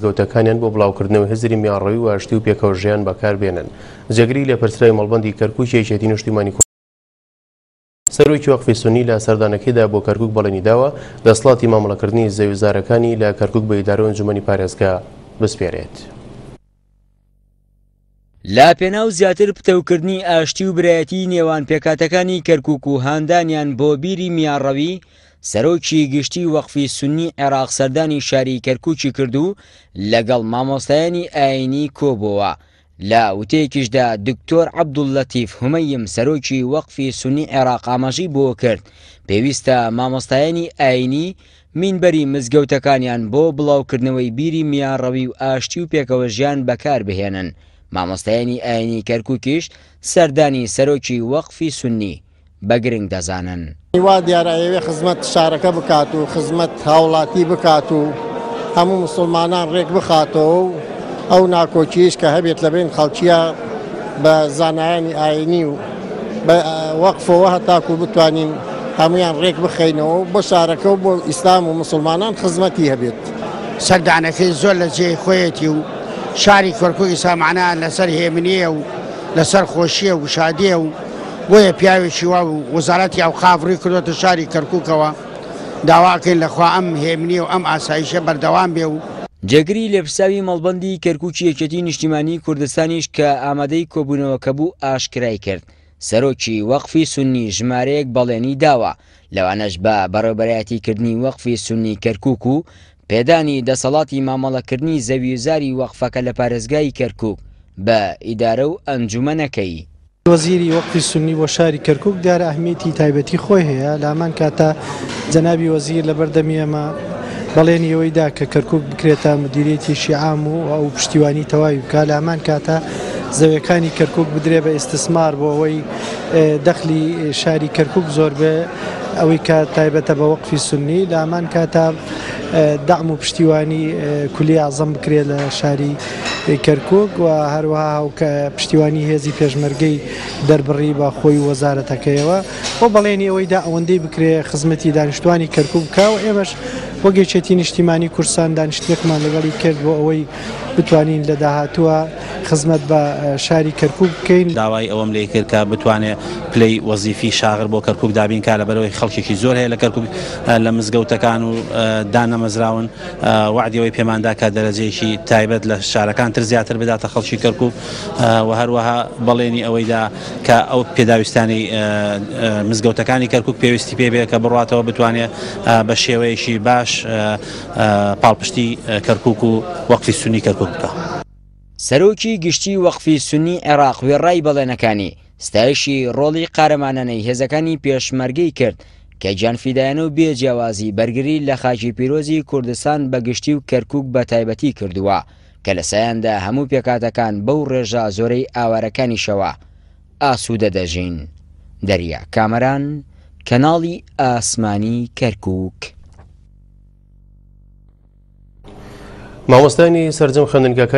مزگەوتەکانیان بۆ بڵاوکردنەوەی هزری میانڕەوی و ئاشتی و پێکەوەژیان بەکاربێنن. جێگری لێپرسراوی مەڵبەندی کەرکوکی یەکێتی نیشتیمانی کوردستان، سەرۆکی وەقفی سوننی لە سەردانەکەیدا بۆ کەرکوک بەڵێنی داوە دەسەڵاتی مامەڵەکردنی زەویوزارەکانی لە کەرکوک بە ئیدارە و ئەنجومەنی پارێزگا بسپێرێت. لە پێناو زیاتر پتەوکردنی ئاشتی و برایەتیی نێوان پێکهاتەکانی کەرکوک و هاندانیان بۆ بیری میانڕەوی، سەرۆکی گشتی وەقفی سوننی عێراق سەردانی شاری کەرکوکی کرد و لەگەڵ مامۆستایانی ئایینی کۆبۆوە. لە وتەیەکیشدا دکتۆر عەبدوللەتیف هومەیم سەرۆکی وەقفی سوننی عێراق ئاماژەی بەوەکرد، پێویستە مامۆستایانی ئایینی مینبەری مزگەوتەکانیان بۆ بڵاوکردنەوەی بیری میانڕەوی و ئاشتی و پێکەوەژیان بەکاربهێنن، مامۆستایانی ئایینی کەرکوکیش سەردانی سەرۆکی وەقفی سوننی بە گرنگ دەزانن. وا دیارە ئەیەوێ خزمەت شارەکە بکات و خزمەت هاوڵاتی بکات و هەموو موسڵمانان ڕێک بخاتەوە و ئەو ناکۆکییش کە هەبێت لە بەین خەڵکییە بە زانایانی ئاینی و بە وەقفەوە هەتاکو بتوانین هەموویان ڕێک بخەینەوە و بۆ شارەکە و بۆ ئیسلام و موسڵمانان خزمەتی هەبێت. سەردانەکەی زۆر لە جێی خۆیەتی و شاری کەرکوک ئیستا مەعنا لەسەر هێمنییە و لەسەر خۆشییە و شادییە و بۆیە پیاوێکی وا و وەزارەتی ئەوقاف ڕووی کردۆتە شاری کەرکوکەوە، داوا ئەکەین لە خوا ئەم هێمنی و ئەم ئاسایشە بەردەوام بێ و. جێگری لێپرسراوی مەڵبەندی کەرکوکی یەکێتی نیشتیمانیی کوردستانیش کە ئامادەی کۆبوونەوەکە بوو ئاشکرای کرد، سەرۆکی وەقفی سوننی ژمارەیەک بەڵێنی داوە، لەوانەش بە بەڕێوەبەرایەتیکردنی وەقفی سوننی کەرکوک و پێدانی دەسەڵاتی مامەڵەکردنی زەویوزاری وەقفەکە لە پارێزگای کەرکوک بە ئیدارە و ئەنجومەنەکەی. وەزیری وەقفی سوننی بۆ شاری کەرکوک دیارە ئەهمیەتی تایبەتی خۆی هەیە، لە هەمان کاتا جەنابی وەزیر لە بەردەمی ئێمە بەڵێنی ئەوەی دا کە کەرکوک بکرێتە مدیریەتێکی عام و ئەو پشتیوانی تەواوی بکا، لە هەمان کاتا زەویەکانی کەرکوک بدرێ بە ئیستسمار بۆ ئەوەی دەخلی شاری کەرکوک زۆر بێ ئەوەی کە تایبەتە بە وەقفی سوننی، لە هەمان کاتا دەعم و پشتیوانی کولی ئەعزەم بکرێ لە شاری کەرکوک و هەروەها هاوکە پشتیوانی هێزی پێشمەرگەی دەربڕی بە خۆی و وەزارەتەکەیەوە و بەڵێنی ئەوەی دا ئەوەندەی بکرێ خزمەتی دانیشتوانی کەرکوک بکا و ئێمەش وەک یەکێتی نیشتیمانی کوردستان دانیشتنێکمان لەگەڵی کرد بۆ ئەوەی بتوانین لە داهاتووە خزمەت بە شاری کەرکوک بکەین. داوای ئەوەم لێ کرد کە بتوانێ پلەی وەزیفی شاغر بۆ کەرکوک دابین کا لەبەرئەوەی خەڵکێکی زۆر هەیە لە کەرکوک لە مزگەوتەکان و دانەمەزراون. وەعدی ئەوەی پێمان دا کە دەرەجەیەکی تایبەت لە شارەکان تر زیاتر بداتە خەڵکی کەرکوک و هەروەها بەڵێنی ئەوەی دا کە ئەو پێداویستانەی مزگەوتەکانی کەرکوک پێویستی پێ بێ کە بڕاتەوە بتوانێ بە شێوەیەکی باش پاڵپشتی کەرکوک و وەقفی سونی کەرکوک بکا. سەرۆکی گشتی وەقفی سونی عێراق وێڕای بەڵێنەکانی، ستایشی ڕۆڵی قارەمانانەی هێزەکانی پێشمەرگەی کرد کە گیانفیدایانە و بێ جیاوازی بەرگری لە خاکی پیرۆزی کوردستان بە گشتی و کەرکوک بە تایبەتی کردووە کە لە سایاندا هەموو پێکهاتەکان بەو ڕێژە زۆرەی ئاوارەکانیشەوە ئاسوودە دەژین. دەریا کامەران، کەناڵی ئاسمانی کەرکوک. مامۆستایانی سەرجەم خوێندنگاکانی.